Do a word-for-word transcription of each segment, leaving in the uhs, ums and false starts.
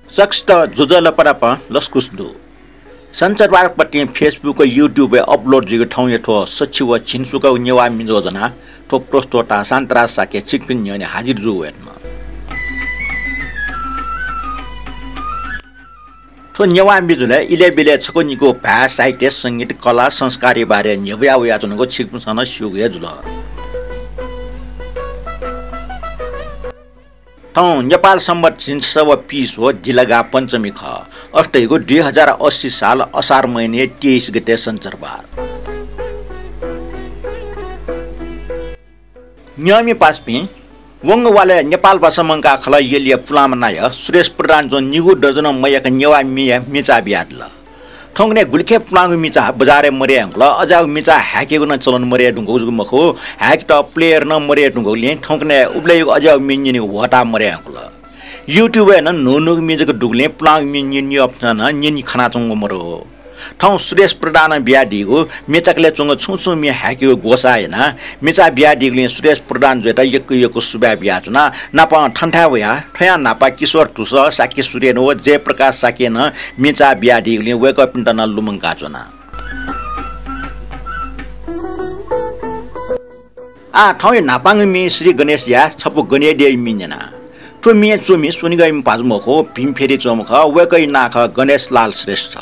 सकसित ज्वजलपा नाप लसकुस दु। सञ्चरबारपतिं Facebook, YouTube-य् upload जुइगु थौंया थ्व सछि व झिंसुकागु नेवाः मिजो ज्वनाः थ्व प्रस्तोता शान्तराज शाक्य छिकपिनि न्ह्यःने हाजिर जू वयेधुन। थ्व नेवाः मिजोलय् इलय् ब्यलय् छकू निकू भाय्, साहित्य, संगीत, कला, संस्कारया बारे न्ह्यब्वया वयाच्वनागु छिकपिन्सं नं स्यूगु हे जुल। थौं नेपाल संवत् झिंछसः व पीस्वः दिलगा पञ्चमी खः। अथे धइगु दुई हजार अस्सी साल असार महिनाया तेइस गते सञ्चरबार। न्यंमि पासापिं, वंगु वालय् नेपाल भाषा मंकाः खलः यलया पुलांम्ह नायः सुरेश प्रधानं च्वंगु निगू दर्जनं मयय्क नेवाः मिया मिचा बियादिल। थौंकन्हय् गुलिखे पुलांगु मिचा बजारय् मदये धुंकल, अज्याःगु मिचा हाय्केगु नं चलन मदये धुंकूगु जक मखु, हाय्केत player नं मदये धुंकूगुलिं थौंकन्हय् उबलय्‌यागु अज्याःगु म्ये न्यनेगु ह्वःताः मदये धुंकल। YouTube-य् नं न्हू न्हूगु म्ये जक दुगुलिं पुलांगु म्ये न्यने न्यंपिन्सं नं न्यने खनाच्वंगु मदु। थौं सुरेश प्रधानं बियादीगु म्ये चाकलय् च्वंगु छुं छुं म्ये हाय्केगु ग्वसाः यानाः मिचा बियादीगुलिं सुरेश प्रधान जुयात यक्व यक्व सुभाय् बियाच्वना। नापं थन्थाय् वयाः थ्वयां न्हापा किशोर धुसः, शाक्य सुरेन व जयप्रकाश शाक्यं नं मिचा बियादीगुलिं वय्कःपिन्त नं लुमंकाच्वना। आः थौंया न्हापांगु म्ये श्री गणेशया छपु गनेद्यःया म्ये न्यना। थ्व म्ये च्वमि स्वनिगःया भाजु मखु, भीमफेदी च्वंम्ह खः। वय्कःया नां खः गणेशलाल श्रेष्ठ।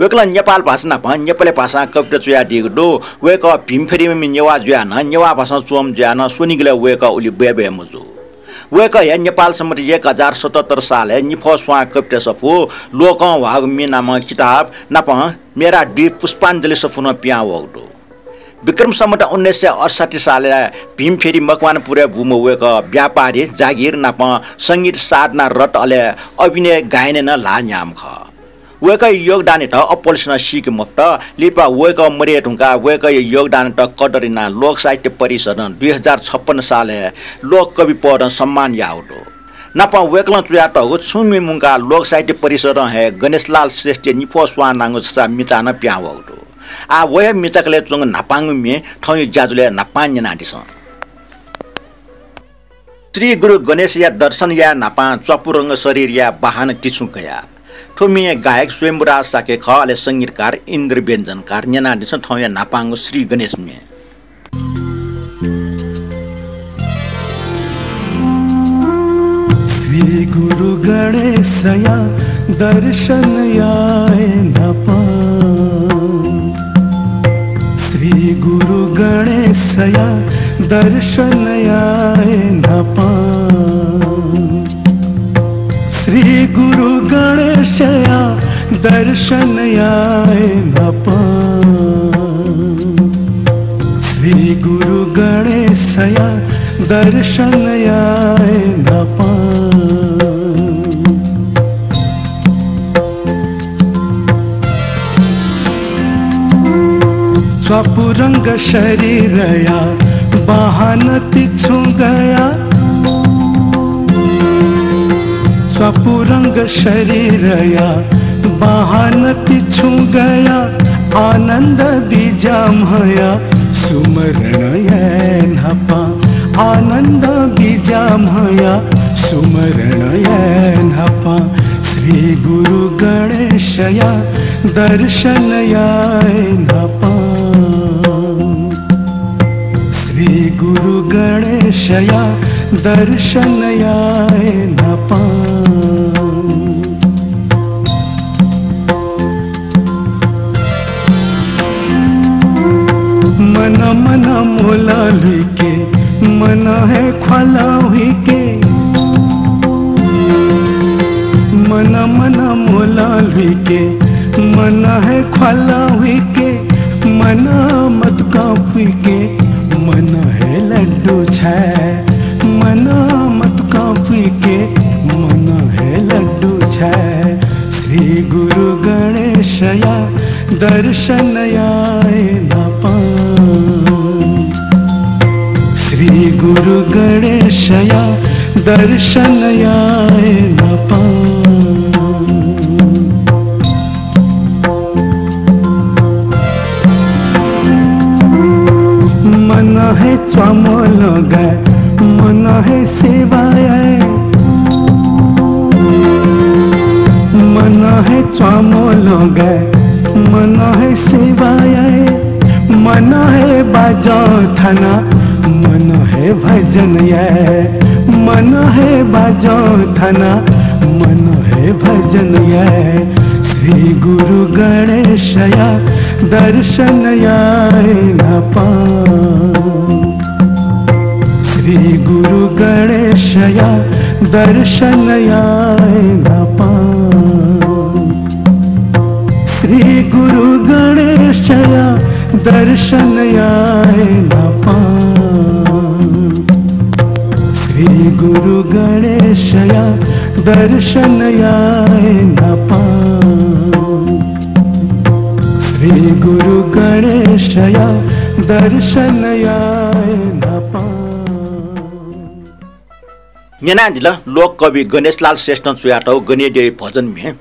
वय्कलं नेपाल भाषा नाप नेपाली भाषां कविता च्वयादीगु दु। वय्कः भीमफेदीम्ह नेवाः जुयाः नं, नेवाः भाषां च्वंम्ह जुयाः नं स्वनिगलय् वय्कः उलि बय्बय् मजू। वय्कःया नेपाल संवत् एक हजार सतहत्तर सालय् निफ्वः स्वां कविता सफू, लोकं ह्वाःगु म्ये नामक किताब नापं मेरा दुई पुष्पाञ्जलि सफू नं पिहां वःगु दु। विक्रम संवत् उन्नाइस सय अठसट्ठी सालय् भीमफेदी मकवानपुरय् बूम्ह वय्कः व्यापारी, जागिर नापं संगीत साधना रथ अले अभिनय गायनय् नं ल्हाः न्ह्याःम्ह खः। वय्कःया योगदानयात अप्वलसिनं सीके मफुत। लिपा वय्कः मदये धुंकाः वय्कःया योगदानयात कदर यानाः लोक साहित्य परिषदं दुई हजार छप्पन्न सालय् लोक कवि पदं सम्मान याःगु दु। नापं वय्कलं च्वयातःगु छुं म्ये मुंकाः लोक साहित्य परिषदं हे गणेशलाल श्रेष्ठया निफ्वः स्वां नांगु छचा मिचा नं पिहां वःगु दु। आः व हे म्ये चाकलय् च्वंगु न्हापांगु म्ये थौंया ज्याझ्वलय् न्हापां न्यनादिसँ। श्री गुरु गणेशया दर्शन याये न्हापां च्वापुरंग शरीरया बाहानं तिछुं कया। थ्व म्ये गायक स्वयम्भूराज शाक्य खः, अले संगीतकार इन्द्र व्यञ्जनकार। न्यनादिसँ थौंया न्हापांगु श्री गणेश म्ये। श्री गुरु गणेशया दर्शन याये न्हापां। श्री गुरु गणेशया दर्शन याये न्हापां। श्री गुरु गणेशया दर्शन याये न्हापां। श्री गुरु गणेशया दर्शन याये न्हापां। च्वापुरंग शरीरया बाहानं तिछुं गया। च्वापुरंग शरीरया बाहानं तिछुं गया। आनन्द बिज्याम्हया सुमरण याये न्हापां। आनन्द बिज्याम्हया सुमरण याये न्हापां। श्री गुरु गणेशया दर्शन याये न्हापां। श्री गुरु गणेशया दर्शन याये न्हापां। मन मन मोला लुइके, मन हे ख्वाला हुइके। मन मन मोला लुइके, मन हे ख्वाला हुइके। मन मतुकां पुइके, मन हे लड्डु छाये। मन मतुकां पुइके, मन हे लड्डु छाये। श्री गुरु गणेशया दर्शन याये न्हापां। श्री गुरु गणेशया दर्शन याये न्हापां। मन हे च्वामोलगा, मन हे सेवा याये। स्वामो लोगय् मन हे सेवा याये, मन हे बाजं थाना, मन हे भजन याये, मन हे बाजं थाना, मन हे भजन याये। श्री गुरु गणेशया दर्शन याये न्हापां। श्री गुरु गणेशया दर्शन याये न्हापां। श्री गुरु गणेशया दर्शन याये न्हापां। श्री गुरु गणेशया दर्शन याये न्हापां। श्री गुरु गणेशया दर्शन याये न्हापां। न्यनादिल लोककवि गणेशलाल श्रेष्ठं च्वयातःगु गनेद्यः भजन म्ये।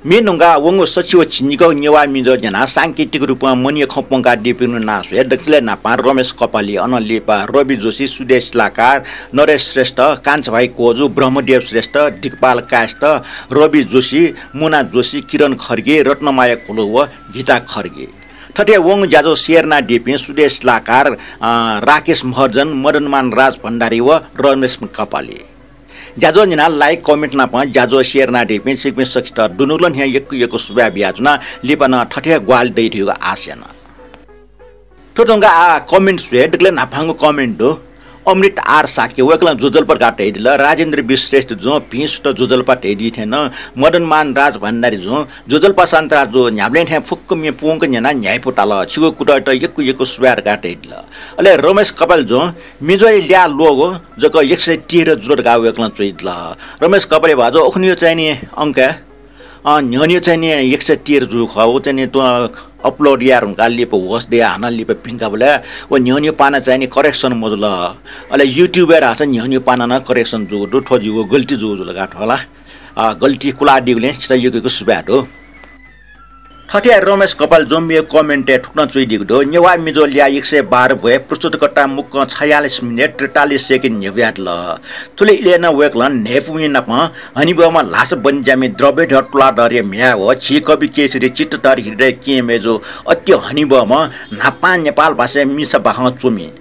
म्ये न्वंकाः वंगु सछि व झिंनिगः नेवाः मिजं न्यनाः सांकेतिक रूपं मनिया खँ प्वंकादीपिनिगु नां स्वये दकलय् न्हापां रमेश कपाली, अनं लिपा रवि जोशी, सुदेश शिलाकार, नरेश श्रेष्ठ, कान्छाभाइ कोजु, ब्रह्मदेव श्रेष्ठ, दिगपाल कायस्थ, रवि जोशी, मुना जोशी, किरण खड्गी, रत्नमाया घोलु व गीता खड्गी। थथे वंगु ज्याझ्वः share यानादीपिं सुदेश शिलाकार, अ, राकेश महर्जन, मदनमान राज भण्डारी व रमेश कपाली। ज्याझ्वः न्यनाः like, comment नाप ज्याझ्वः share यानादीपिं छिकपिं सकसित दुनुगलं हे यक्व यक्व सुभाय् बियाच्वना। लिपा नं थथे हे ग्वाहालि दइ धइगु आशा याना। थ्व धुंकाः आः comment स्वये दकलय् न्हापांगु comment दु अमृत आर शाक्य, वय्कलं ज्वजलपा धकाः धयादिल। राजेन्द्र वि श्रेष्ठ जुं भिं सुथ ज्वजलपा धयादी थें नं मदनमान राज भण्डारी जुं ज्वजलपा शान्तिराज जु न्ह्याबलें थें फुक्क म्ये पूवंक न्यनाः न्ह्याइपु ताल। छिगु कुतःयात यक्व यक्व सुभाय् धकाः धयादिल। अले रमेश कपाली जुं मिजोया ल्याः लोगु जक एक सय तेह्र जुल धकाः वय्कलं च्वयादिल। रमेश कपाली भाजु, उखुन्हुया चाहिँ नि अंकय् अँ, न्ह्यःने चाहिँ नि एक सय तेह्र जूगु खः। व चाहिँ नि तुं upload याये धुंकाः लिपा होस दयाः हानं लिपा भिंकाबलय् व न्ह्यःने पाना चाहिँ नि correction मजुल। अले YouTube-य् धाःसा न्ह्यःने पाना नं correction जूगु दु। थ्व जिगु गल्ती जूगु जुल का थ्व ला। अ, गल्ती कुलादीगुलिं छितः यक्व यक्व सुभाय् दु। थथे रमेश कपाली जुं मेगु comment-य् थुकथं च्वयादीगु दु। नेवाः मिजो ल्याः एक सय बाह्र ब्वय् प्रस्तुतकर्तां मुक्कं छयालिस मिनेट त्रितालिस सेकेन्ड न्ह्यब्वयादिल। थुलि इलय् नं वय्कलं न्हय्पुमि नाप हनेबहःम्ह ल्हासा बने ज्यामि द्रव्यधर तुलाधरया म्ह्याय् व झी कवि केशरी चित्तधर हृदय केहेँ मय्जु अति हनेबहःम्ह न्हापां नेपाल भाषाय् मिसा बाखं च्वमि,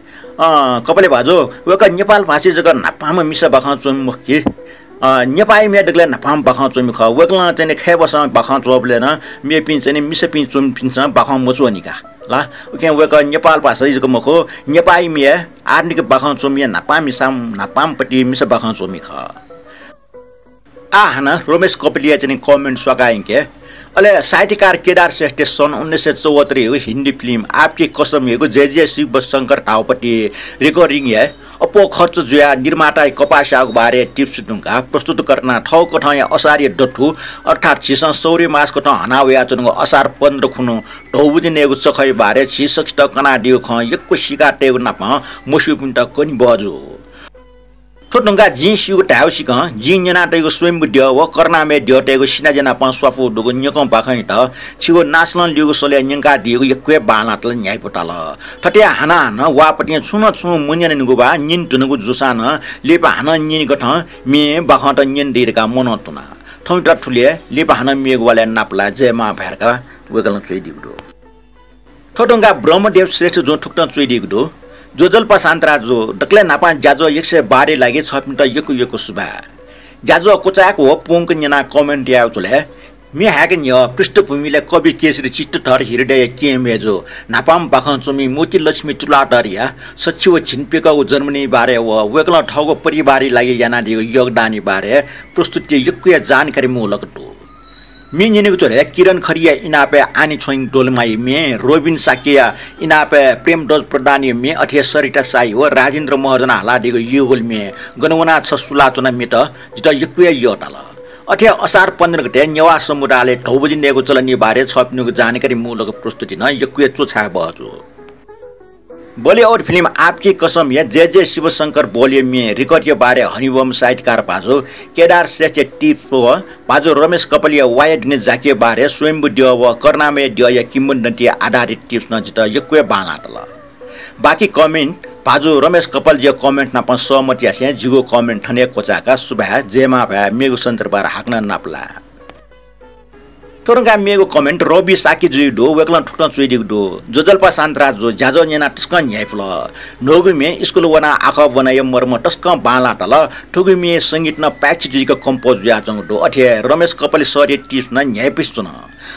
अँ, कपाली भाजु, वय्कः नेपाल भाषाय् जक न्हापांम्ह मिसा बाखं च्वमि मखु कि, अँ, नेपाःया म्ये दकलय् न्हापांम्ह बाखं च्वमि खः। वय्कलं चाहिँ नि खय्‌बसं बाखं च्वःबलय् नं मेपिं चाहिँ नि मिसापिं च्वमिपिन्सं बाखं मच्वनी का ला। उकिं वय्कः नेपाल भाषाय् जक मखु, नेपाःया म्ये आधुनिक बाखं च्वमिया न्हापां मिसा, न्हापांपट्टि मिसा बाखं च्वमि खः। आः हानं रमेश कपालीया चाहिँ नि comment स्वाकाः यंके। अले साहित्यकार केदार श्रेष्ठया सन् उन्नाइस सय चौहत्तरयागु हिन्दी film आपकी कसमयागु जय जय शिव शंकर धाःगुपट्टि recording-य् अप्वः खर्च जुयाः निर्माताया कपाः स्याःगु बारे tips धुंकाः प्रस्तुतकर्तां थःगु कथंया असारया दथु अर्थात् झीसं सौर्य मास कथं हना वयाच्वनागु असार पन्ध्र खुन्हु धौबजि नयेगु चखःया बारे झी सकसित कनादीगु खँ यक्व सीका तयेगु नाप मस्यूपिन्त कने बहःजू। थ्व धुंकाः जिं स्यूगु धायेगु सिकं जिं न्यना तयागु स्वयम्भू द्यः व करुणामय द्यःतय्गु सिनाज्या नाप स्वापू दुगु न्यकं बाखंयात छिगु नासलं ल्यूगु सलय् न्यंकादीगु यक्व हे बांलाः तल, न्ह्याइपु ताल। थथे हानं हानं वाःपतिं छुं न छुं मन्यनानिगु वा न्यने धुनागु जूसां नं लिपा हानं न्यने कथं म्ये बाखंत न्यने दइ धकाः मनं तुना। थौंयात थुलि हे, लिपा हानं मेगु वालय् नापलाये, जय मां भाय् धकाः वय्कलं च्वयादीगु दु। थ्व धुंकाः ब्रह्मदेव श्रेष्ठ जुं थुकथं च्वयादीगु दु। ज्वजलपा शान्तराज जु, दकलय् न्हापां ज्याझ्वः एक सय बाह्रया लागि छःपिन्त यक्व यक्व सुभाय्। ज्याझ्वः क्वचाय्क व पूवंक न्यनाः comment यायेगु झ्वलय् म्ये हाय्‌के न्ह्यः पृष्ठभूमिलय् कवि केशरी चित्तधर हृदय केहेँ मय्जु, न्हापांम्ह बाखं च्वमि मोतीलक्ष्मी तुलाधरया सछि व झिंप्यकःगु जन्मदिनया बारे व वय्कलं थःगु परिवारया लागि यानादीगु योगदानया बारे प्रस्तुतिइ यक्व हे जानकारी मुलक दु। म्ये न्यनेगु झ्वलय् किरण खड्गीया इनापय् आनी छ्वइङ डोल्माया म्ये, रोबिन शाक्यया इनापय् प्रेमध्वज प्रधानया म्ये, अथे हे सरिता शाही व राजेन्द्र महर्जनं हालादीगु युगल म्ये, गन वनाः छ सुलाच्वना म्येत जितः यक्व हे यःताल। अथे हे असार पन्ध्र गते नेवाः समुदायलय् धौबजि नयेगु चलनया बारे छःपिनिगु जानकारी मुलक प्रस्तुति नं यक्व हे च्वछाये बहःजू। Bollywood film आपकी कसमया जय जय शिवशंकर बोलया म्ये record-या बारे हनेबहःम्ह साहित्यकार भाजु केदार श्रेष्ठया tips व भाजु रमेश कपालीया वाया दुने जाकिया बारे स्वयम्भू द्यः व करुणामय द्यःया किंवदन्तीया आधारित tips नं जितः यक्व हे बांलाः तल। बाकी comment भाजु रमेश कपालीजुया comment नाप सहमत यासें जिगु comment थन हे क्वचाय्का। सुभाय्, जय मां भाय्, मेगु सन्दर्भय् हाकनं नापलाये। थ्व धुंकाः मेगु comment रवि शाक्यजुया दु, वय्कलं थुकथं च्वयादीगु दु। ज्वजलपा शान्तराज जु, ज्याझ्वः न्यनाः तसकं न्ह्याइपुल। न्हूगु म्ये स्कूल वनाः आखः ब्वनाया मर्म तसकं बांलाः ताल। थुगु म्ये संगीत नं पाय्छि जुइक compose जुयाच्वंगु दु। अथे हे रमेश कपाली सरया tips नं न्ह्याइपुसे च्वन।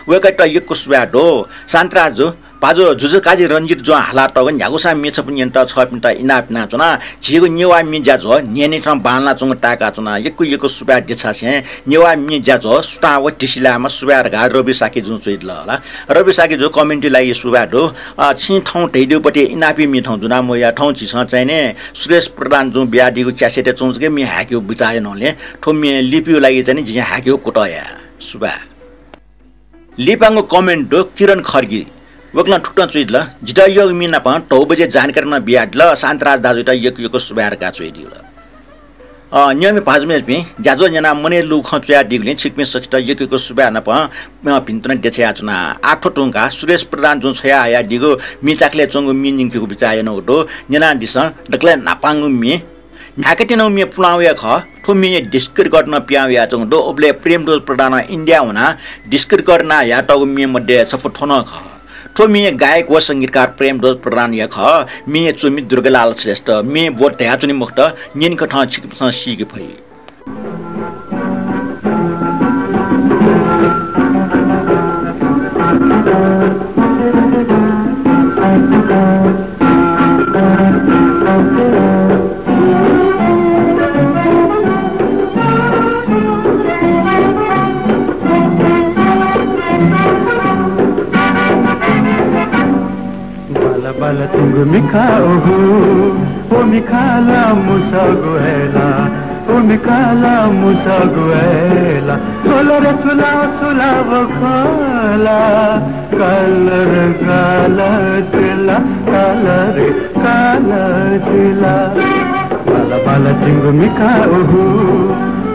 वय्कःयात यक्व सुभाय् दु। शान्तराज जु, पाजु जुजुकाजी रंजित जुं हालातःगु न्ह्यागुसां म्ये छपु न्यनेत छःपिन्त इनाप यानाच्वना। झीगु नेवाः म्ये ज्याझ्वः न्हियान्हिथं बांलानाच्वंगु ताय्काच्वना। यक्व यक्व सुभाय् देछासें नेवाः म्ये ज्याझ्वः सुथां व धिसिलायेमा सुभाय् धकाः रवि शाक्यजुं च्वयादिल ला। रवि शाक्यजु comment-या लागि सुभाय् दु। अ, छिं थौं धयादीगु पति इनापया म्ये थौं दुना मवया, थौं झीसं चाहिने सुरेश प्रधान जुं बियादीगु cassette-य् च्वंगु जक म्ये हाय्केगु बिचाः यानागुलिं थ्व म्ये लिपिया लागि चाहिने जिं हाय्केगु कुतः याये। सुभाय्। लिपांगु comment दु किरण खड्गी। वय्कलं थुकथं च्वयादिल, जितः यःगु म्ये नाप धौ बजे जानकारी नं बियादिल, शान्तराज दाजुयात यक्व यक्व सुभाय् धकाः च्वयादिल। अ, न्यंम्ह भाजु मय्जुपिं, ज्याझ्वः न्यनाः मनय् लूगु खँ च्वयादीगुलिं छिकपिं सकसित यक्व यक्व सुभाय् नाप, अ, भिंतुना देछायाच्वना। आः थ्व धुंकाः सुरेश प्रधान जुं छ्वयाहयादीगु म्ये चाकलय् च्वंगु म्ये न्यंकेगु बिचाः यानागु दु। न्यनादिसँ, दकलय् न्हापांगु म्ये न्हाय्कात्यनागु म्ये पुलांवया खः। थ्व म्येया disc record नं पिहां वयाच्वंगु दु। उबलय् प्रेमध्वज प्रधानं इन्डिया वनाः disc record यानाहयातःगु म्ये मध्ये छपु थ्व नं खः। थ्व म्येया गायक व संगीतकार प्रेमध्वज प्रधान हे खः। म्येया च्वमि दुर्गालाल श्रेष्ठ। म्ये व धयाच्वने मखुत, न्यनेकथं छिकपिन्सं सीके फइ। बाला बाला तिंगु मिखा ओहू, ओ मिखा ला मुसा गुएला, ओ मिखा ला मुसा गुएला। सोला रे सुला सुला वो खोला, काला रे काला जिला, काला रे काला जिला। बाला बाला तिंगु मिखा ओहू,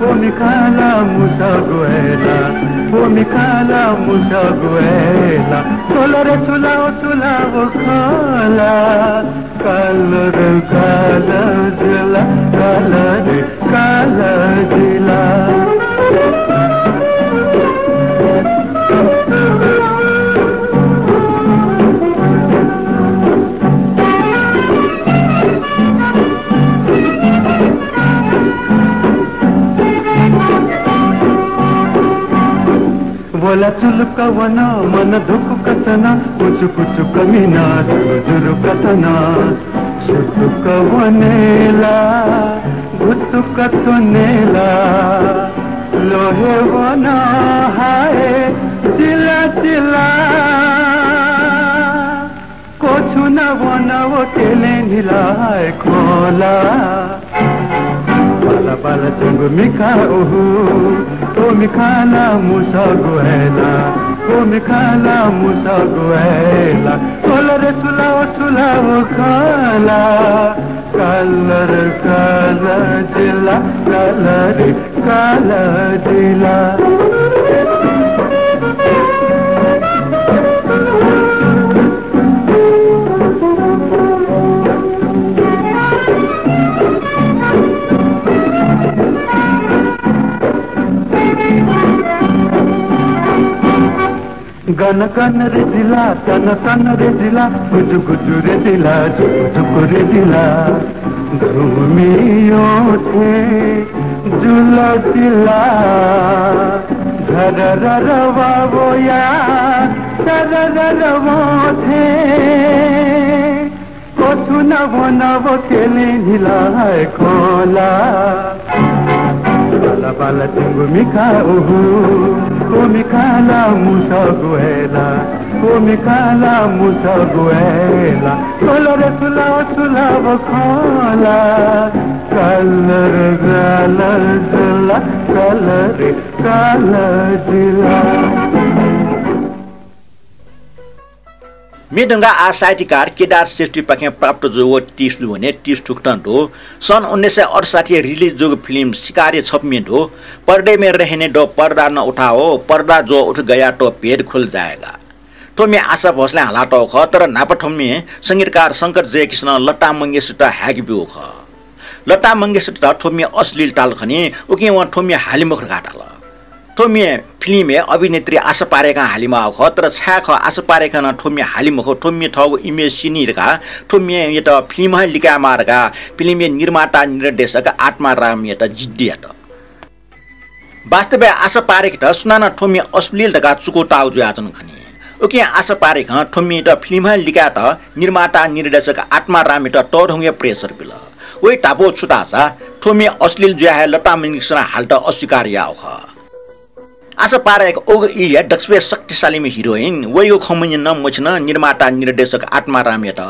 ओ मिखा ला मुसा गुएला, ओ मिखा ला मुसा गुएला। सोला रे सुला सुला वो खोला, काला रे काला जिला, काला रे काला जिला। वला चुलुक्क वन, मन धुकुक्क च्वन, कुचु कुचु कमिन, जुरु जुरु कथन। सुतुक्क वनेला, भुतुक्क च्वनेला, लोहे वन हाय, चिला चिला। कोछुना वन व केलें न्हिलाय् खोला। बाला बाला च्वंगु मिखा ओहू, ओ मिखा ला मुसा गुएला, ओ मिखा ला मुसा गुएला। सोला रे सुला ओ सुला वो खोला, काला रे काला जिला, काला रे काला जिला। गन गन रे जिला, तन तन रे जिला, गुजु गुजु रे जिला, जुकु जुकु रे जिला। घुमियो थे जुल जिला, झररर वावोया, सररर वो थे। कोछुना वन व केलें न्हिलाय् खोला। बाला बाला तिंगु मिखा ओहू, ओ मिखा ला मुसा गुएला, ओ मिखा ला मुसा गुएला। सोला रे सुला सुला वो खोला, काला रे काला जिला, काला रे काला जिला। म्ये धुंकाः आः साहित्यकार केदार श्रेष्ठपाखें प्राप्त जूगु tips दु भने tips थुकथं दु। सन् उन्नाइस सय अठसट्ठी release जूगु film शिकार-या छपु म्ये दु। पर्दे में रहने दो, पर्दा न उठाओ, पर्दा जो उठ गया तो भेद खुल जाएगा। थ्व म्ये आशा भोसलें हालातःगु खः, तर न्हापा थ्व म्ये संगीतकार शंकर जयकिशनं लता मंगेशकयात हाय्के ब्यूगु खः। लता मंगेशकयात थ्व म्ये अश्लील ताल खनी, उकिं वं थ्व म्ये हाले मखु धकाः धाल। थ्व म्ये फिल्मय् अभिनेत्री आशा पारेखं हालेमाःगु खः, तर छाय् खः आशा पारेखं नं थ्व म्ये हाले मखु, थ्व म्ये थःगु image सिनी धकाः थ्व म्येयात फिल्मं हे लिकायेमाः धकाः फिल्मया निर्माता निर्देशक आत्मारामयात जिद्दी यात। वास्तवय् आशा पारेखयात सुनानं थ्व म्ये अश्लील धकाः चुकूताःगु जुयाच्वन खनी। उकिं आशा पारेखं थ्व म्येयात फिल्मं हे लिकायेत निर्माता निर्देशक आत्मारामयात तःधंगु pressure बिल। वया धापू छु धाःसा थ्व म्ये अश्लील जुयाः हे लता मंगेशकरं हालेत अस्वीकार याःगु खः। आशा पारेख उगु इलय् दक्वसिबय् शक्तिशालीम्ह heroine, वइगु खँ मन्यन मछिन निर्माता निर्देशक आत्मारामयात।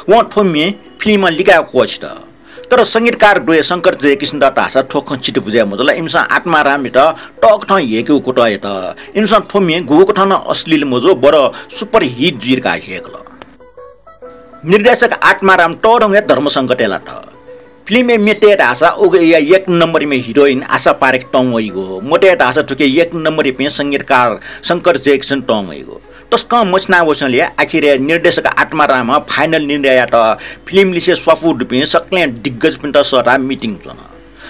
वं थ्व म्ये फिल्मं लिकायेगु क्वःछित। तर संगीतकार द्वय शंकर जयकिशनत धाःसा थ्व खँ चित्त बुझे मजुल। इमिसं आत्मारामयात तःकथं ह्यय्केगु कुतः यात। इमिसं थ्व म्ये गुकथं नं अश्लील मजू, बरु super hit जुइ धकाः ह्यय्कल। निर्देशक आत्माराम तःधंगु हे धर्मसंकटय् लात। फिल्मय् म्ये तये धाःसा उगु इलय् एक नम्बरम्ह heroine आशा पारेख तं वइगु, मतये धाःसा थुकी एक नम्बरपिं संगीतकार शंकर जयकिशन तं वइगु। तसकं मछिना वसेंलि आखिरय् निर्देशक आत्मारामं final निर्णय यात। फिल्म लिसे स्वापू दुपिं सकलें दिग्गजपिन्त सःताः meeting च्वन।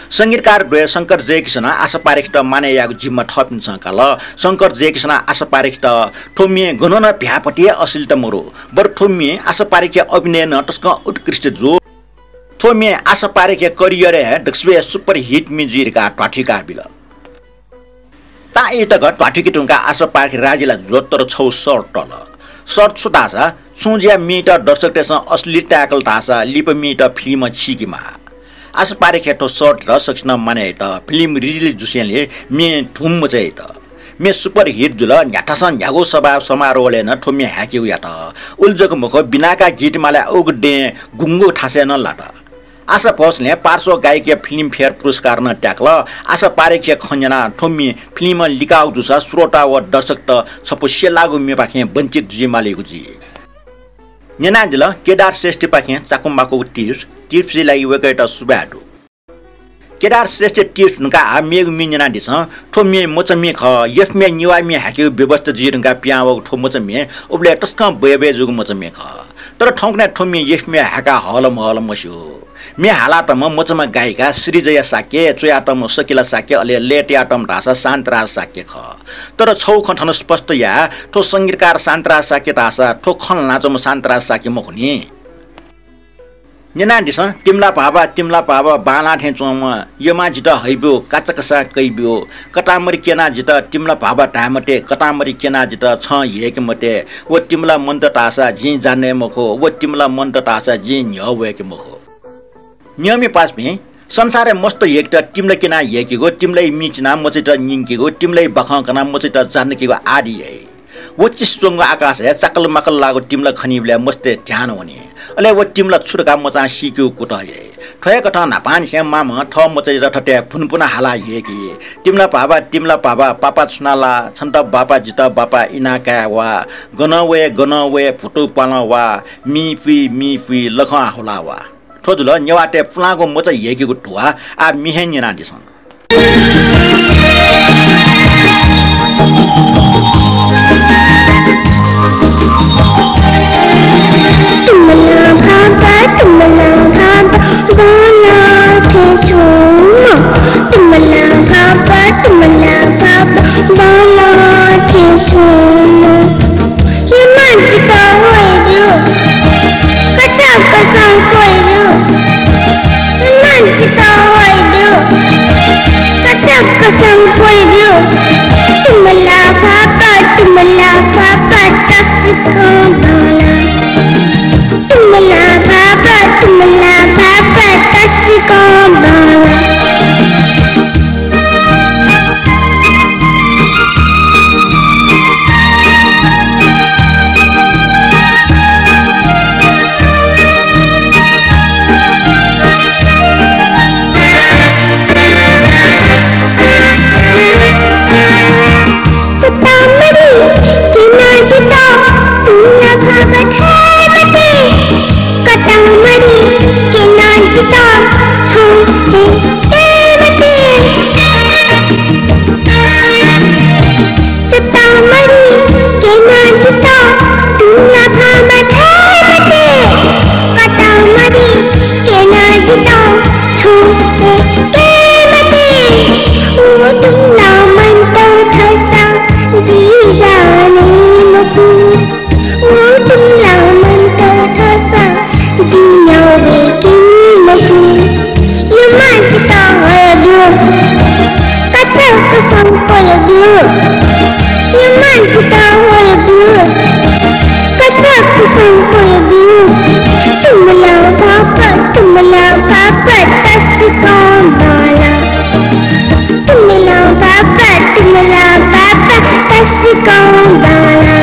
संगीतकार द्वय शंकर जयकिशनं आशा पारेखयात मानय् यायेगु जिम्मा थःपिन्सं काल। शंकर जयकिशनं आशा पारेखयात थ्व म्ये गनं नं भ्याःपति हे अश्लीलता मरु, बरु थ्व म्ये आशा पारेखया अभिनयं नं तसकं उत्कृष्ट जू। थ्व म्ये आशा पारेखया career-य् हे दक्वसिबय् super hit म्ये जुइ धकाः ध्वाथुइका बिल। ताःई तक ध्वाथुइके धुंकाः आशा पारेख राजी ला जुल, तर छगू शर्त तल। शर्त छु धाःसा, छुं जुयाः म्येयात दर्शकतय्सं अश्लील ताय्कल धाःसा लिपा म्येयात फिल्मं चीकेमाः। आशा पारेखया थ्व शर्तयात सकसिनं मानय् यात। फिल्म release जुसेंलि म्ये धुम मचायात। म्ये super hit जुल। न्ह्याथासं न्ह्यागु सभा समारोहलय् नं थ्व म्ये हाय्केगु यात। उलि जक मखु, बिनाका गीतमालाया उगु दँय् गुंगू थासय् नं लात। आशा भोसलें पार्श्व गायकीया Filmfare पुरस्कार नं त्याकल। आशा पारेखया खँ न्यनाः थ्व म्ये फिल्मं लिकाःगु जूसा श्रोता व दर्शकत छपु स्यलाःगु म्येपाखें वञ्चित जुइमालीगु जुइ। न्यनादिल केदार श्रेष्ठपाखें चाकु माकुगु tips, tips-या लागि वय्कःयात सुभाय् दु। केदार श्रेष्ठया tips धुंकाः आः मेगु म्ये न्यनादिसँ। थ्व म्ये मचा म्ये खः। यफ म्ये निवा म्ये हाय्केगु व्यवस्था जुइ धुंकाः पिहां वःगु थ्व मचा म्ये उबलय् तसकं बय्बय् जूगु मचा म्ये खः। तर थौंकन्हय् थ्व म्ये यफ म्ये हाय्काः हःल महःल मस्यू। म्ये हालातःम्ह मचाम्ह गायिका श्रीजया शाक्य, च्वयातःम्ह सकिला शाक्य, अले लय् तयातःम्ह धाःसा शान्तराज शाक्य खः। तर छगू खँ थन स्पष्ट या, थ्व संगीतकार शान्तराज शाक्य धाःसा थ्व खँ ल्हानाच्वंम्ह शान्तराज शाक्य मखु नि। न्यनादिसँ, तिमला भाबा, तिमला भाबा, बांलाः थें च्वंम्ह, यमा जितः हइब्यु, काचाकसां कइब्यु, कतामरि क्यना जितः तिमला भाबा धाये मते, कतामरि क्यना जितः छं ह्यय्के मते, व तिमला मन्त धाःसा जिं जाने मखु, व तिमला मन्त धाःसा जिं न्ह्यः वय्के मखु। न्यंमि पासापिं, संसारय् मस्त ह्यय्केत तिमला क्यनाः ह्यय्केगु, तिमलाया मि चिनाः मचायात न्यंकेगु, तिमलाया बाखं कनाः मचायात जान्केगु आदि याइ। व चिस्यां च्वंगु आकाशय् चाकल माकल लाःगु तिमला खनीबलय् मस्तय् ध्यान वनी। अले व तिमला छु धकाः मचां सीकेगु कुतः याइ। थ्व हे कथं न्हापांनिसें मांम्हं थः मचायात थथे भुनभुन हालाः ह्यय्की। तिमला भाबा, तिमला भाबा, पापा छुना ला, छन्त बापा, जितः बापा, इनाः काये वा, गनं वये, गनं वये, भुतू पालं वा, मि पुइ, मि पुइ, लखं हाहुला वा। थ्व जुल नेवाःतय् पुलांगु मचा ह्यय्केगु धुवा। आः म्ये हे न्यनादिसँ। तिमला भाबा, तिमला भाबा, बांलाः थें च्वंम्ह। तिमला भाबा, तिमला भाबा, बांलाः थें च्वंम्ह। यमा जितः हइब्यु, काचाकसां कइब्यु। यमा जितः हइब्यु, काचाकसां कइब्यु। तिमला भाबा, तिमला भाबा, तसकं बांलाः। तिमला भाबा, तिमला भाबा, तसकं बांलाः। संक्वय् ब्यु। यमां जितः ह्वये ब्यु। कचाक्क संक्वय् ब्यु। तुम्ला भाःपा, तुम्ला भाःपा तसकं बांला। तुम्ला भाःपा, तुम्ला भाःपा तसकं बांला।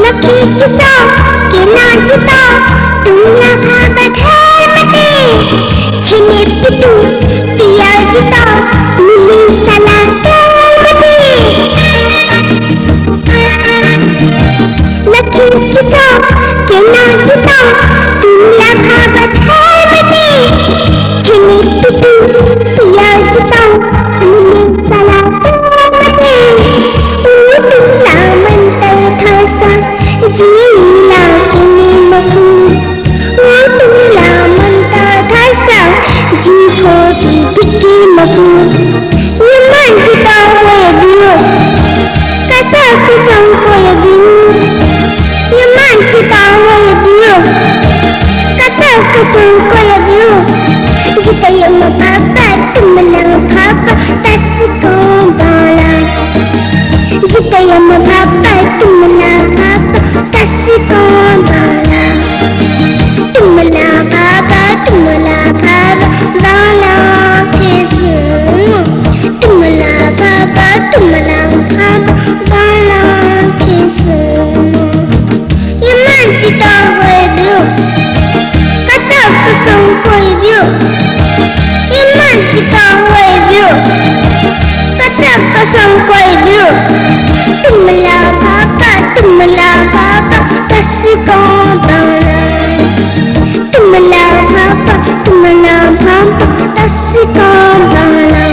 लखिं किचा क्यना जितः तुम्ला भाःपा धाये मते। छेँय् पितुं पिया जितः मिलय् सला काये मते। लखिं किचा क्यना जितः तुम्ला भाःपा धाये मते। छेँय् पितुं पिया जितः मिलय् सला काये मते। व तुम्ला मन्त धाःसा जि ला क्यने मखु। व तुम्ला मन्त धाःसा जि भोगे दिके मखु। यमां जितः ह्वये ब्यु। कचाक्क संक्वय् ब्यु। यमां जितः ह्वये ब्यु। कचाक्क संक्वय् ब्यु। जितः यम भाःपा, तुम्ला भाःपा तसकं बांला। जितः यम भाःपा, तुम्ला भाःपा तसकं बांला। तुम्ला भाःपा, तुम्ला भाःपा बांला खय् जू। तुम्ला भाःपा, तुम्ला भाःपा बांला खय् जू। यमां जितः ह्वये ब्यु। कचाक्क संक्वय् ब्यु। यमां जितः ह्वये ब्यु। कचाक्क संक्वय् ब्यु। तुम्ला भाःपा, तुम्ला भाःपा तसकं बांला। तुम्ला भाःपा, तुम्ला भाःपा तसकं बांला।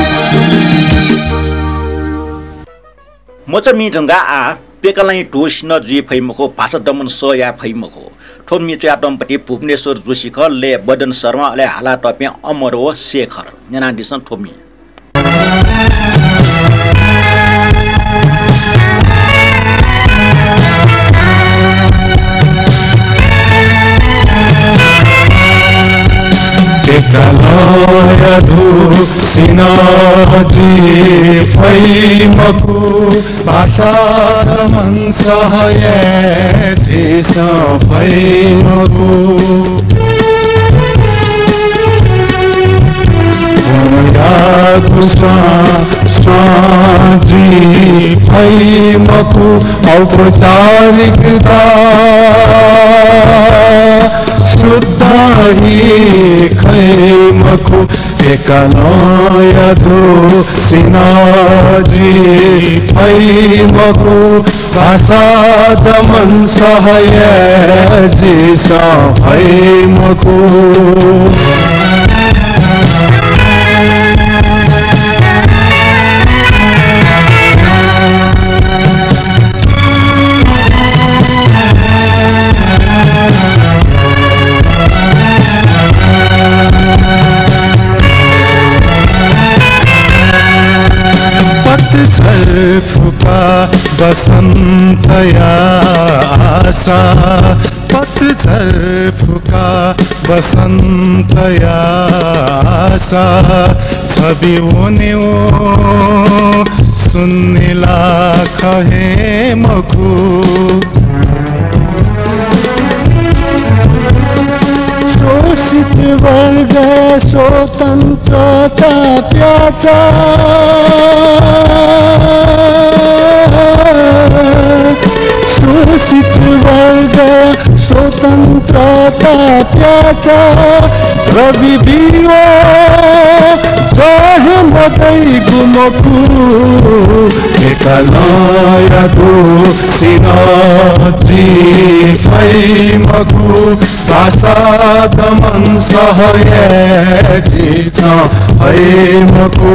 मचा म्ये धुंकाः आः प्यकलां धू सिन्हः जुइ फइ मखु, भाषा दमन सह याये फइ मखु। थ्व म्ये च्वयातःम्ह पति भुवनेश्वर जोशी खः, लय् बदन शर्मा, अले हालातःपिं अमर व शेखर। न्यनादिसँ थ्व म्ये। प्यकलां धू सिन्हः जुइ फइ मखु, भाषा दमन सह याये झीसं फइ मखु। मनयागु स्वां स्वां जुइ फइ मखु, औपचारिकता सुद्धा हे खइ मखु। प्यकलां धू सिन्हः जुइ फइ मखु, भाषा दमन सह याये झीसं फइ मखु। पतझर फुकाः वसन्तया आशा, पतझर फुकाः वसन्तया आशा, छबि वनेगु सुन्ने ला खः हे मखु। शोषित वर्ग स्वतन्त्रता प्याःचा, शोषित वर्ग स्वतन्त्रता प्याःचा, रवि बियो जहे मदइगु मखु। प्यकलां धू सिन्हः जुइ फइ मखु, भाषा दमन सह याये झीसं फइ मखु।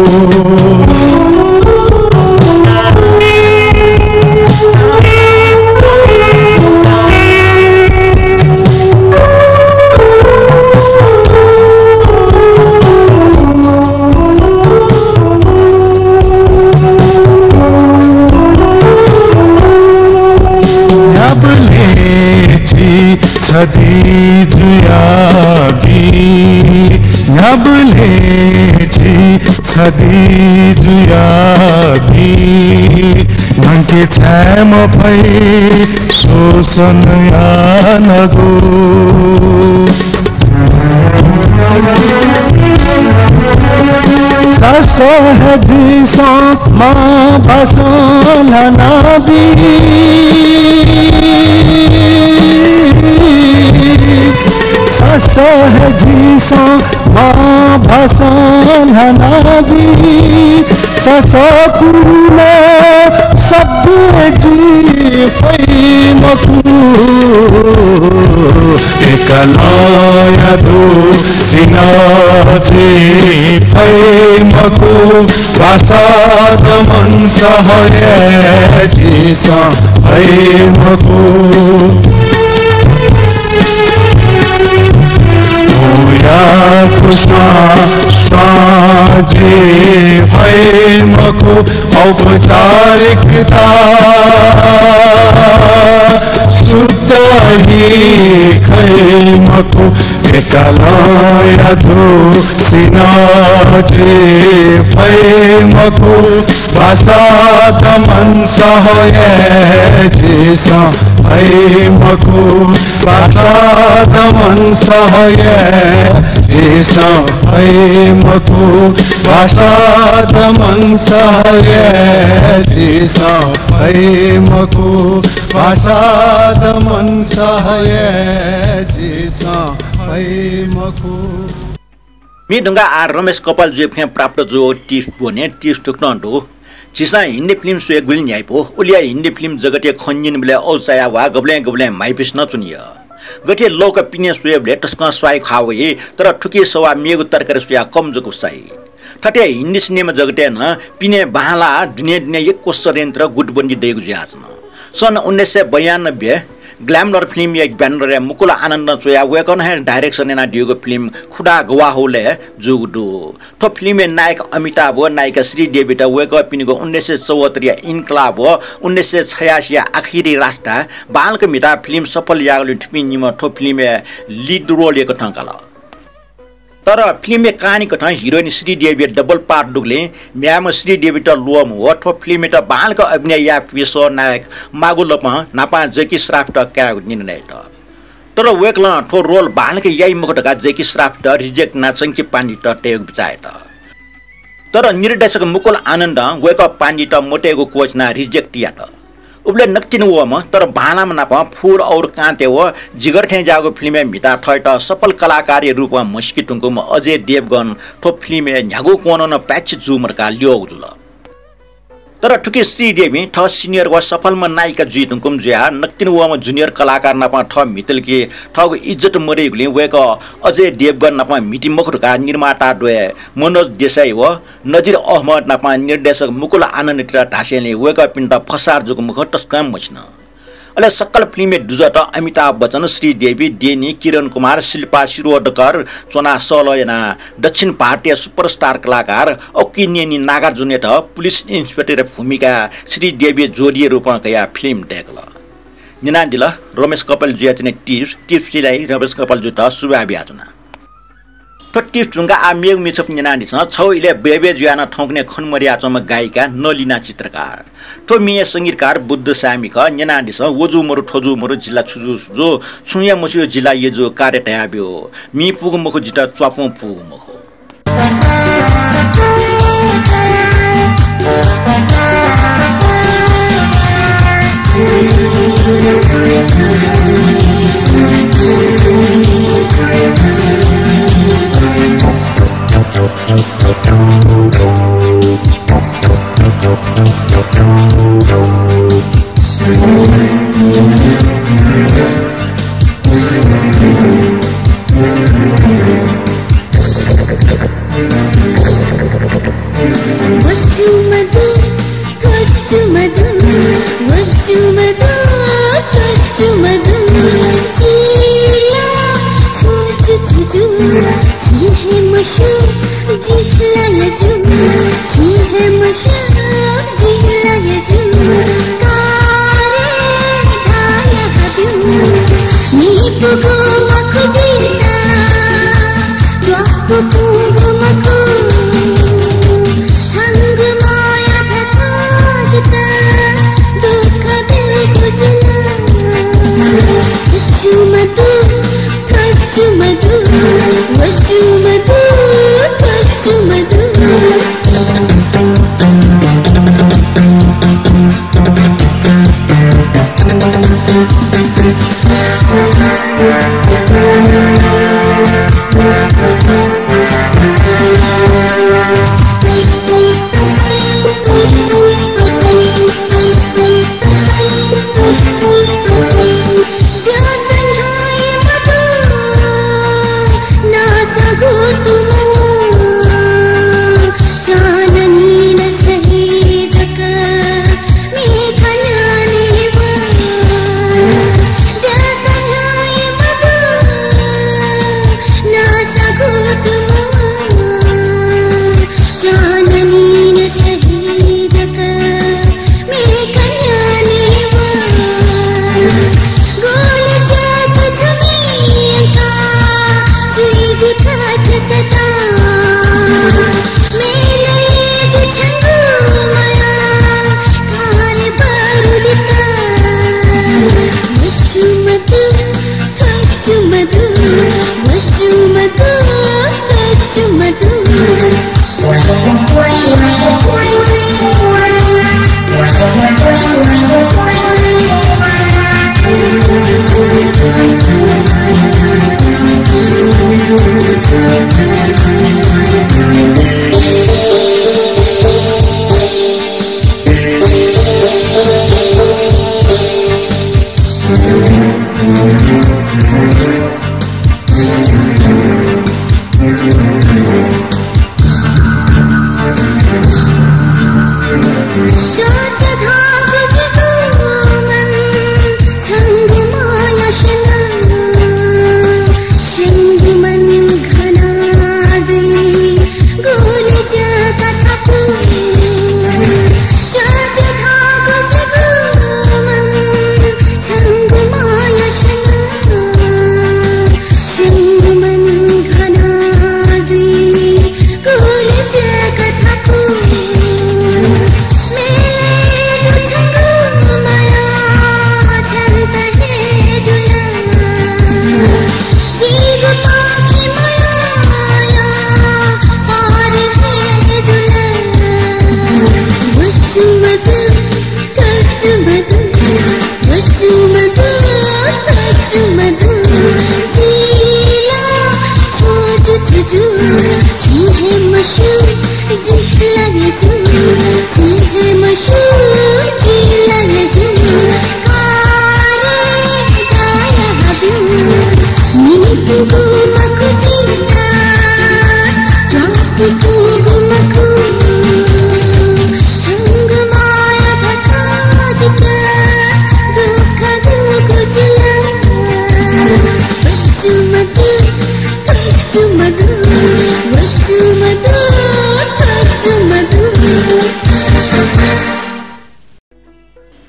छधी जुयाबी न्ह्याबलें झी छधी जुयाबी न्हंके छाय् मफइ शोषण यानागु। सासः हे झीसं मांभासं ल्हानाबी। सासः हे झीसं मांभासं ल्हानाबी। सासः कुलय् सभ्य जुइ फइ मखु। एकलंया दुसिनं जुइ फइ मखु। भाषा दमन सह हे झीसं फइ मखु। उयाकु स्वां स्वां जुइ फइ मखु। औपचारिकता सुद्धा हि खइ मखु। एकलंया दुसिनं जुइ फइ मखु। भाषा दमन सह हे झीसं फइ मखु। भाषा दमन सह हे झीसं फइ मखु। भाषा दमन सह हे झीसं फइ मखु। भाषा दमन सह हे झीसं फइ मखु। म्ये धुंकाः आः रमेश कपालजुया खँय् प्राप्त जूगु tips ब्वने। Tips थुकथं दु। झीसं हिन्दी film स्वयेगुलिं न्ह्याइपु। उलिया हिन्दी film जगतय् खँ न्यनेबलय् औचाया वा गबलें गबलें म्हाइपिसं नं च्वनी। गथे लौका पिने स्वयेबलय् तसकं स्वाइ ख्वाः वइ, तर थुकी सवाः मेगु तरकारी स्वयाः कम जक साइ। थथे हिन्दी सिनेमा जगतय् नं पिने बांलाः दुने दुने यक्व षड्यन्त्र गुटबन्दी दइगु जुयाच्वन। सन् उन्नाइस सय बयानब्बे Glamour film या banner-य् मुकुल आनन्दं च्वयाः वय्कलं हे direction यानादीगु film खुदा गवाह हो-लय् जूगु दु। थ्व film-य् नायक अमिताभ व नायिका श्रीदेवीत वय्कःपिनिगु उन्नाइस सय चौहत्तर या इन्कलाब व उन्नाइस सय छयासी या आखिरी रास्ता बांलाक म्हिताः film सफल याःगुलिं थुपिं निम्हं थ्व film-य् lead role याकथं काल। तर film-य् कहानी कथं heroine श्रीदेवीया double part दुगुलिं म्ह्याय्म्ह श्रीदेवीत ल्वःमवः थ्व film-यात बांलाक अभिनय याये फुइसः नायक मागुलपं न्हापां जैकी श्राफयात कायेगु निर्णय यात। तर वय्कलं थ्व role बांलाक याइ मखु धकाः जैकी श्राफयात reject यानाः चंकी पाण्डेयात तयेगु बिचाः यात। तर निर्देशक मुकुल आनन्दं वय्कः पाण्डेयात मतयेगु कोसिस यानाः reject यात। उबलय् नकतिनि वःम्ह तर बांलाःम्ह नाप फुल और कांटे व जिगर थें ज्याःगु film-य् म्हिताः थःत सफल कलाकारया रूपं म्हसीके धुंकूम्ह अजय देवगन थ्व film-य् न्ह्यागु कोणं नं पाय्छि जूम्ह धकाः ल्यःगु जुल। तर थुकी श्रीदेवीं थः senior व सफलम्ह नायिका जुइ धुंकूम्ह जुयाः नकतिनि वःम्ह junior कलाकार नाप थः म्हितलय् थःगु इज्जत मदइगुलिं वय्कः अजय देवगन नाप म्हिती मखु धकाः निर्माता द्वय् मनोज देसाई व नजिर अहमद नाप निर्देशक मुकुल आनन्दयात धासेंलि वय्कःपिन्त फसार जूगु मखु तसकं मछिन। अले सकल film-या दुजःत अमिताभ बच्चन, श्रीदेवी, डेनी, किरण कुमार, शिल्पा शिरोडकर च्वनाः सहलह यानाः दक्षिण भारतीय superstar कलाकार अक्किनेनी नागार्जुनयात police inspector-या भूमिकाय् श्रीदेवी जोडीया रूपं कयाः film दय्कल। न्यनादिल रमेश कपालजुया च्वने tips, tips सिलाइ रमेश कपालजुयात सुभाय् बियाच्वना। थ्व tips धुंकाः आः मेगु म्ये छपु न्यनादिसँ। छगू इलय् बय्बय् जुयाः नं थौंकन्हय् खने मदयाच्वंम्ह गायिका नलिना चित्रकार। थ्व म्येया संगीतकार बुद्ध साय्मि खः। न्यनादिसँ, व जू मरु, थ्व जू मरु, जिल्ला छु जू, सु जू, छुं हे मस्यू, जिल्ला यजु, कार्य धयाब्यु। म्ये पूगु मखु, जितः च्वापुं पूगु मखु।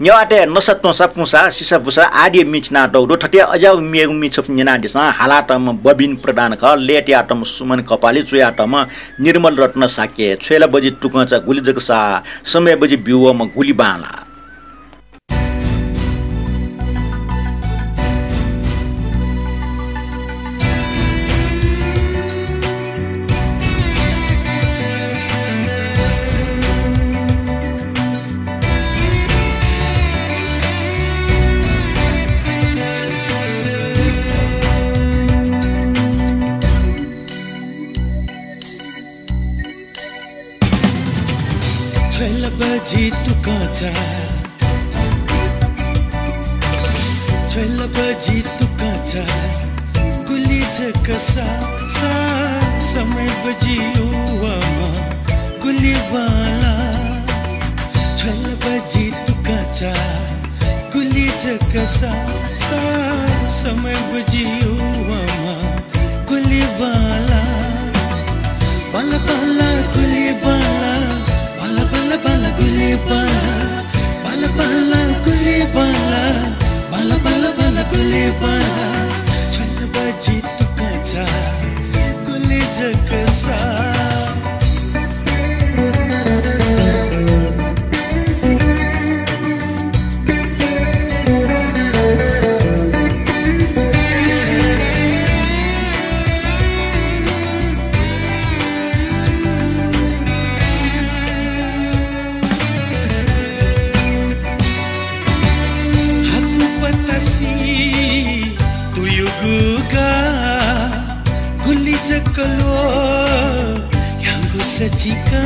नेवाःतय् नसा त्वंसा पुंसा सिसा बुसा आदिया म्ये चिनातःगु दु। थथे अज्याःगु मेगु म्ये छपु न्यनादिसँ। हालातःम्ह बबिन प्रधान खः। लय् तयातःम्ह सुमन कपाली, च्वयातःम्ह निर्मल रत्न शाक्य। छ्वय् ला बजि तुकंचा गुलि जक सा, समय बजि ब्यूवःम्ह गुलि बांलाः। छ्वय् ला बजि तुकंचा, छ्वय् ला बजि तुकंचा गुलि जक सा, सा, समय बजि ब्यूवःम्ह गुलि बांलाः। छ्वय् ला बजि तुकंचा गुलि जक सा, सा, समय बजि ब्यूवःम्ह गुलि बांलाः। बांलाः, बांलाः, गुलि बांलाः। बांलाः, बांलाः, बांलाः, गुलि बांलाः। बांलाः, बांलाः, गुलि बांलाः। बांलाः, बांलाः, बांलाः, गुलि बांलाः। छ्वय् ला बजि तुकंचा गुलि सकसा। हाकु पतासी तुयुगु गा, गुलि जक ल्वः ह्याउँगु सचिका।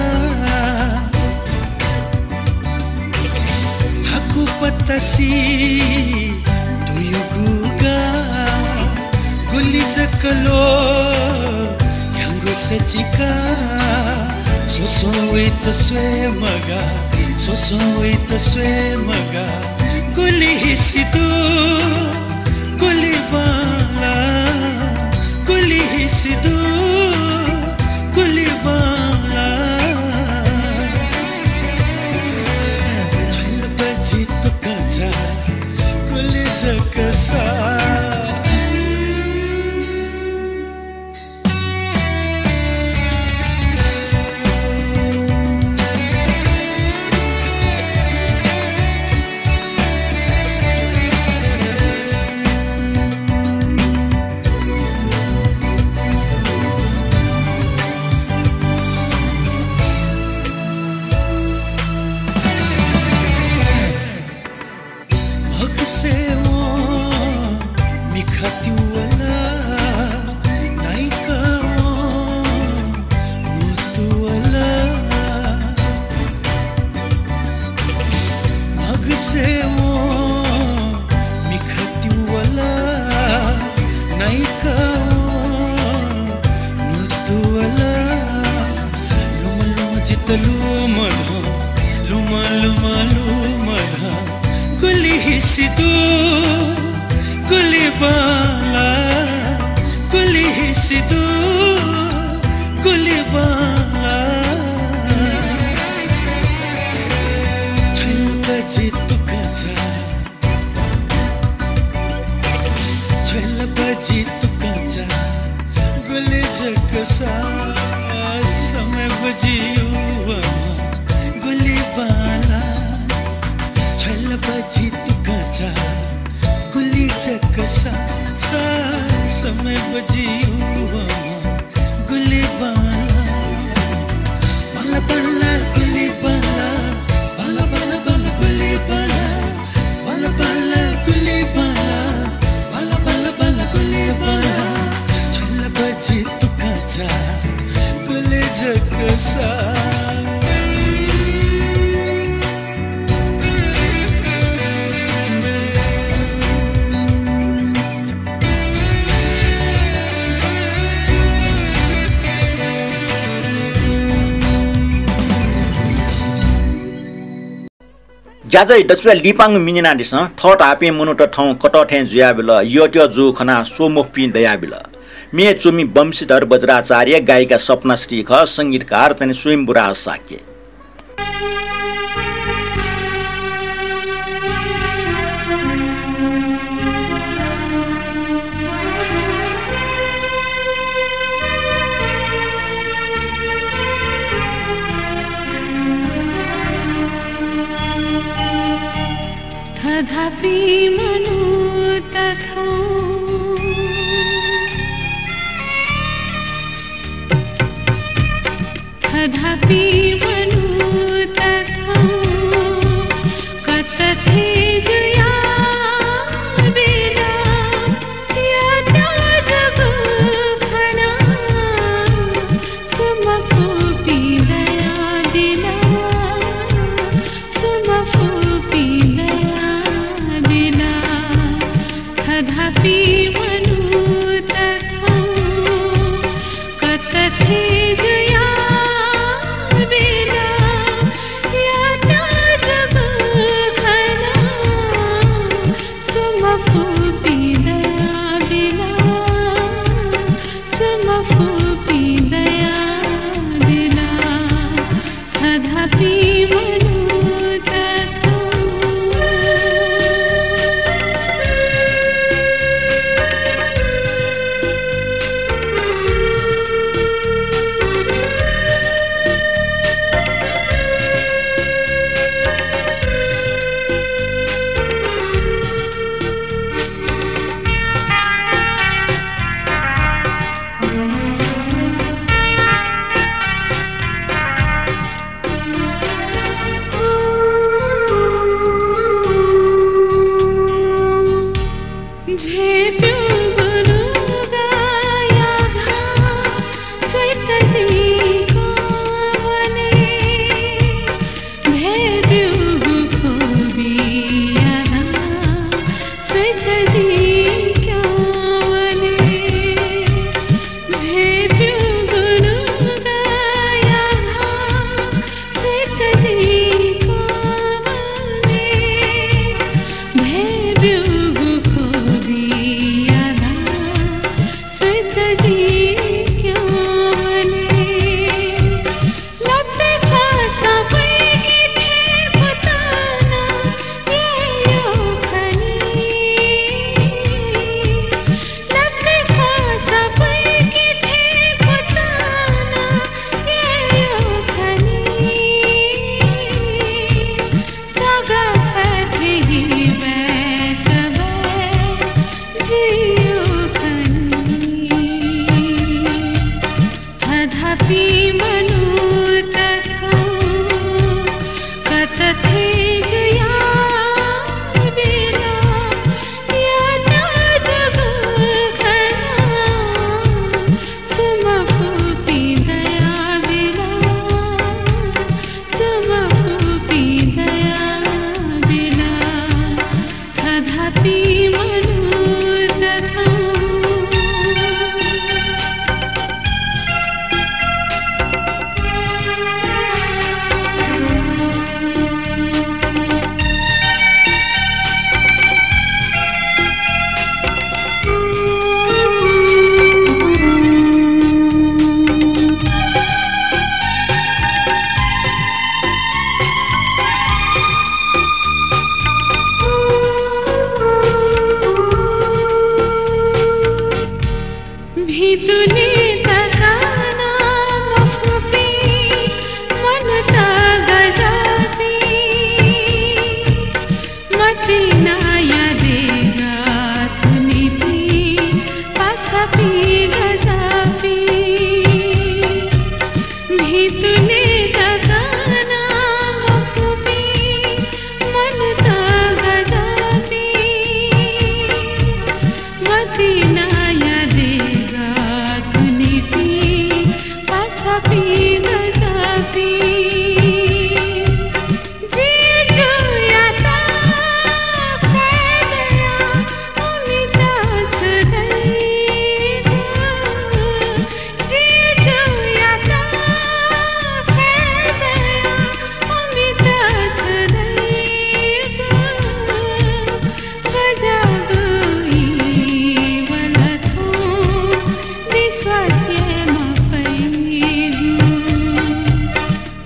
हाकु पतासी तुयुगु गा, गुलि जक ल्वः ह्याउँगु सचिका। स्वस्वं वइत स्वये मगा, स्वस्वं वइत स्वये मगा। गुलि हिसि दु, गुलि बांला, गुलि हिसि दु, गुलि बांला। छ्वय्‌ल बजि तुकजा, गुलि जक सा। मगसेवं मिखा तिवला, नाइकावं नुतुवला। मगसेवं मिखा तिवला, नाइकावं नुतुवला। लुमं लुमं जितः लुमधं, लुमं लुमं लुमधं। गुलि हिसि दु, गुलि बांला, गुलि हिसि दु, गुलि बांला। छ्वय्‌ल बजि तुकजा, छ्वय्‌ल बजि तुकजा, गुलि जक सा। समय बजि युवां, गुलि बांला। छ्वय्‌ल बजि तुकजा, गुलि जक सा, सा। समय बजि युवां, गुलि बांला। बांला बांला गुलि बांला, बांला बांला बांला गुलि बांला। बांला बांला गुलि बांला, बांला बांला बांला गुलि बांला। छ्वय्‌ल बजि तुकजा, गुलि जक सा। ज्याझ्वः दच्छि ब्वाँय् लिपांगु मिनिनादिसँ। थःथाःपिं मनूत थौं कतः थें जुयाबिल। यःत्यः जूगु खनाः स्वमफुपिं दयाबिल। म्ये च्वमि वंशीधर वज्राचार्य, गायिका सपना श्री खः, संगीतकार चाहिँ स्वयम्भूराज शाक्य। थधापि मनूत थौं, थधापि मनूत थौं, कतः थें जुयाबिल। यःत्यः जूगु खनाः स्वमफुपिं दयाबिल। स्वमफुपिं दयाबिल। थधापि मनूत थौं, कतः थें जुयाबिल। तुने तकना मखुपिं मनूत गजःपिं, मतिनाया देगः थुनिपिं पासापिं गजःपिं।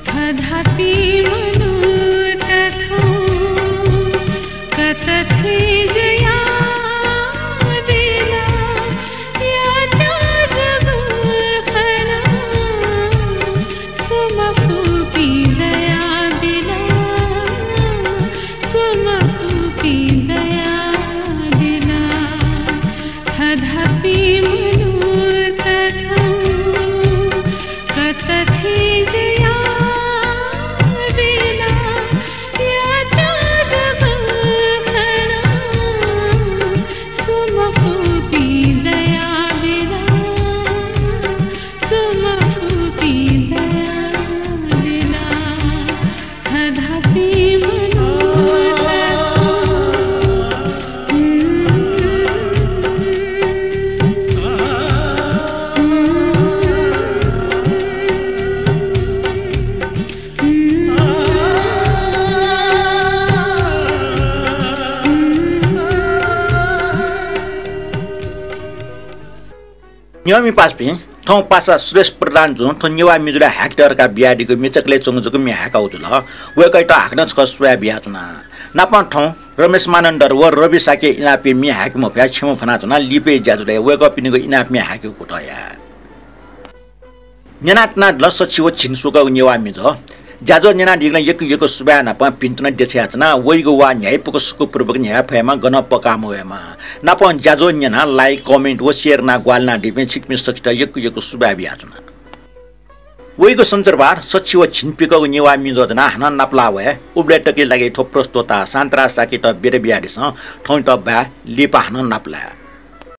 थधापी मनूत थौं कत थें जुयाबिल, यात जक खना स्वमखुपिं दयाबिल, स्वमखुपिं दयाबिल। थधापी मनूत थौं कत थें जुयाबिल, यात जक खना स्वमखुपिं दयाबिल, स्वमखुपिं दयाबिल। थधापी मनूत न्यंपिं पासापिं, थौं पासा सुरेश प्रधान जुं थ्व नेवाः म्युजिकय् हाय्केत धकाः बियादीगु म्ये चकलय् च्वंगु जक म्ये हाय्कागु जुल। वय्कःयात हाकनं छकः सुभाय् बियाच्वना। नापं थौं रमेश मानन्धर व रवि शाक्य इनापया म्ये हाय्के मफयाः छेँय् फ्वनाच्वना। लिपाया ज्याझ्वलय् वय्कःपिनिगु इनाप म्ये हाय्केगु कुतः याये। न्यनातुनादिल सछि व झिंस्वकःगु नेवाः म्युजिक। ज्याझ्वः न्यनादीगुलिं यक्व यक्व सुभाय् नापं भिन्तुना देछानाच्वना। वइगु वाः न्ह्याइपुक सुखपूर्वक न्ह्याये फयेमा, गनं पकाः मवयेमा। नापं ज्याझ्वः न्यनाः like, comment व share यानाः ग्वाहालि यानादीपिं छिकपिं सकसित यक्व यक्व सुभाय् बियाच्वना। वइगु सञ्चरबार सछि व झिंस्वकःगु नेवाः म्युजिक ज्याझ्वः हानं नापलाः वये। उबलय् तकया लागि थ्व प्रस्तोता शान्तराज शाक्ययात बिदा बियादिसँ। थौंयात बाय्, लिपा हानं नापलाये।